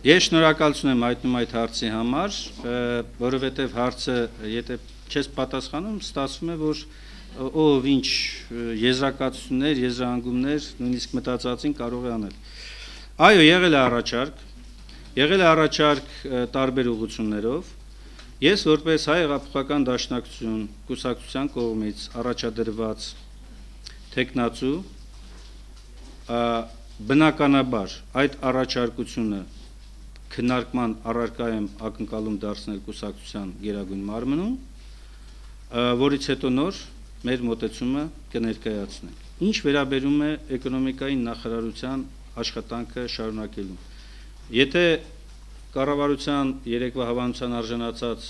Ես շնորհակալություն եմ հայտնում այդ հարցի համար, որովհետև հարցը, եթե չես պատասխանում, ստացվում է, որ ով ինչ եզրակացություններ, եզրահանգումներ, նույնիսկ մտածածին կարող է անել։ Այո, եղել է առաջարկ տարբեր ուղղություններով։ Ես որպես Հայ հեղափոխական դաշնակցություն կուսակցության կողմից առաջադրված թեկնածու բնականաբար այդ առաջարկությունը քննարկման առարկա եմ ակնկալում դարձնել կուսակցության գերագույն մարմնում, որից հետո նոր մեր մոտեցումը կներկայացնենք։ Ինչ վերաբերում է էկոնոմիկայի նախարարության աշխատանքը շարունակելուն։ Եթե կառավարության երեկվա հավանության արժանացած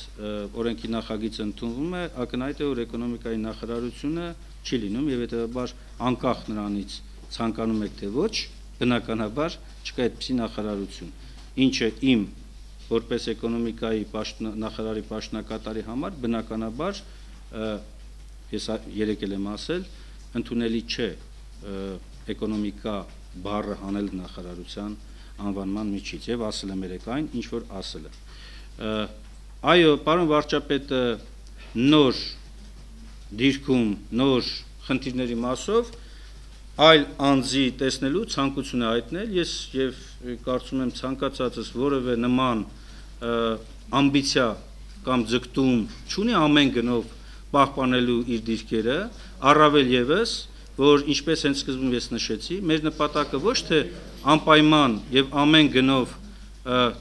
օրենքի նախագիծը ընդունվում է, ակնհայտ է, որ էկոնոմիկայի նախարարությունը չի լինում եւ հետեւաբար անկախ նրանից ցանկանում եք թե ոչ, բնականաբար չկա այդպիսի նախարարություն, ինչը իմ որպես էկոնոմիկայի նախարարի պաշտոնակատարի համար բնականաբար ես երեք եմ ասել, ընդունելի չէ էկոնոմիկա բառը հանել նախարարության անվանման միջից եւ ասել եմ երեք այն, ինչ որ ասել եմ։ Այո, պարոն վարչապետը նոր դիրքում, նոր խնդիրների մասով այլ անձի տեսնելու ցանկություն է հայտնել, ես եւ կարծում եմ ցանկացածս որևէ նման ամբիցիա կամ ձգտում չունի ամեն գնով պահպանելու իր դիրքերը, առավել եւս, որ ինչպես հենց սկզբում ես նշեցի, մեր նպատակը ոչ թե անպայման եւ ամեն գնով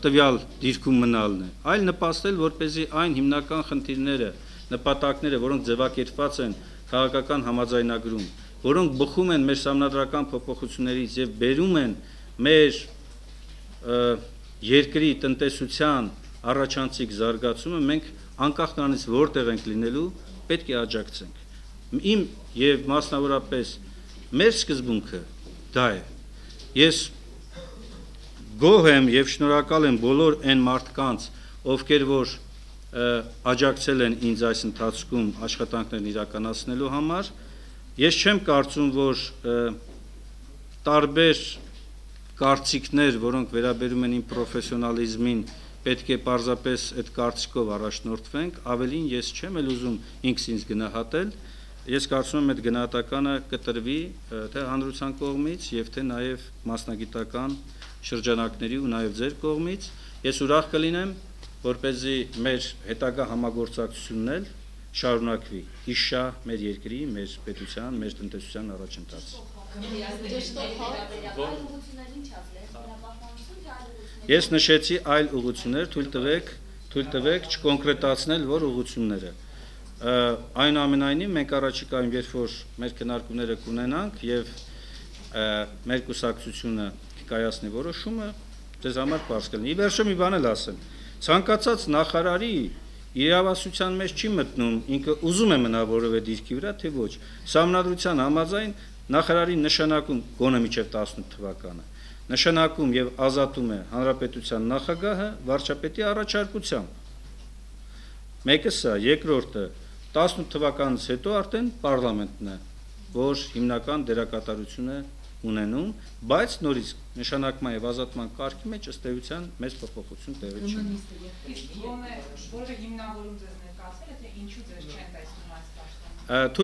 տվյալ դիրքում մնալն է, այլ նպաստել, որպեսզի այն հիմնական խնդիրները, նպատակները, որոնք ձևակերպված են քաղաքական համաձայնագրում, որոնք բխում են մեր սահմանադրական փոփոխություններից եւ բերում են մեր երկրի տնտեսության առաջանցիկ զարգացումը, մենք անկախ նրանից որտեղ ենք լինելու, պետք է աջակցենք։ Իմ եւ մասնավորապես մեր սկզբունքը դա է։ Ես գոհ եմ եւ շնորհակալ եմ բոլոր այն մարդկանց, ովքեր որ աջակցել են ինձ այս ընթացքում աշխատանքներն իրականացնելու համար։ Ես չեմ կարծում, որ տարբեր կարծիքներ, որոնք վերաբերում են իմ պրոֆեսիոնալիզմին, պետք է պարզապես այդ կարծիքով առաջնորդվենք, ավելին ես չեմ էլ ուզում ինքս ինձ գնահատել, ես կարծում եմ այդ գնահատականը կտրվի թե հանրության կողմից եւ թե նաեւ մասնագիտական շրջանակների ու նաեւ ձեր կողմից։ Ես ուրախ կլինեմ, որպեսզի մեր հետագա համագործակցությունն էլ շարունակվի իշա մեր երկրի, մեր պետության, մեր տնտեսության առաջընթացը։ Ես նշեցի այլ ուղղություններ, թույլ տվեք չկոնկրետացնել որ ուղղությունները։ Այնուամենայնիվ մենք առաջիկայում երբ որ մեր քննարկումները կունենանք եւ մեր կուսակցությունը կկայացնի որոշումը, ձեզ համար պարզ կլինի։ Ի վերջո մի բան էլ ասեմ։ Ցանկացած նախարարի իրավասության մեջ չի մտնում, ինքը ուզում է մնա որևէ դիրքի վրա, թե ոչ։ Սահմանադրության համաձայն նախարարի նշանակում գոնե մինչև 18 թվականը նշանակում եւ ազատում է հանրապետության նախագահը վարչապետի առաջարկությամբ։ Մեկը սա, երկրորդը 18 թվականից հետո արդեն պարլամենտն է, որ հիմնական դերակատարություն է ունենում, բայց նորից նշանակման եւ ազատման կարգի մեջ ըստ էության մեծ փոփոխություն տեղի չունի։ Իսկ որևէ հիմնավորում ձեզ ներկայացել է, թե ինչու ձեզ չեն տեսնում այս պաշտոնում։